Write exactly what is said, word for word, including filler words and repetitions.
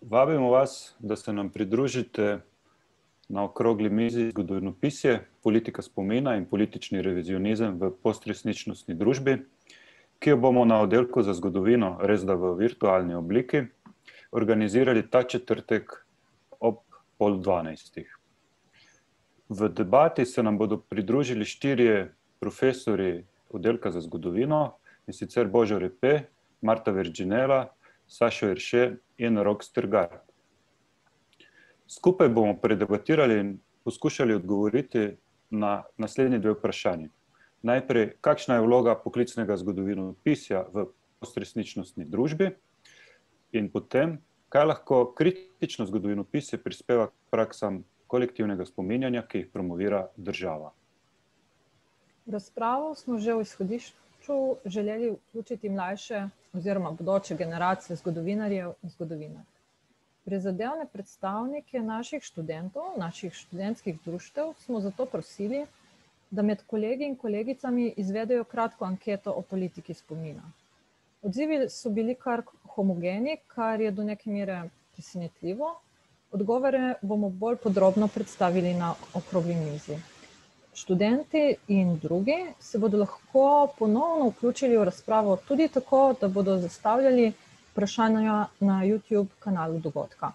Vabimo vas, da se nam pridružite na okrogli mizi Zgodovinopisje, politika spomina in politični revizionizem v postresničnostni družbi, ki jo bomo na oddelku za zgodovino, res da v virtualni obliki, organizirali ta četrtek ob pol dvanajstih. V debati se nam bodo pridružili štirje profesorji oddelka za zgodovino, in sicer Božo Repe, Marta Verginela, Sašo Erše in Rok Strgar. Skupaj bomo predebatirali in poskušali odgovoriti na naslednji dve vprašanji. Najprej, kakšna je vloga poklicnega zgodovinopisja v postresničnostni družbi, in potem, kaj lahko kritično zgodovinopisje prispeva k praksam kolektivnega spominjanja, ki jih promovira država. V razpravo smo že v izhodišču želeli vključiti mlajše oziroma bodoče generacije zgodovinarjev in zgodovinark. Prizadevne predstavnike naših študentov, naših študentskih društev smo zato prosili, da med kolegi in kolegicami izvedejo kratko anketo o politiki spomina. Odzivi so bili kar homogeni, kar je do neke mere presenetljivo. Odgovore bomo bolj podrobno predstavili na okrogli mizi. Študenti in drugi se bodo lahko ponovno vključili v razpravo tudi tako, da bodo zastavljali vprašanja na YouTube kanalu dogodka.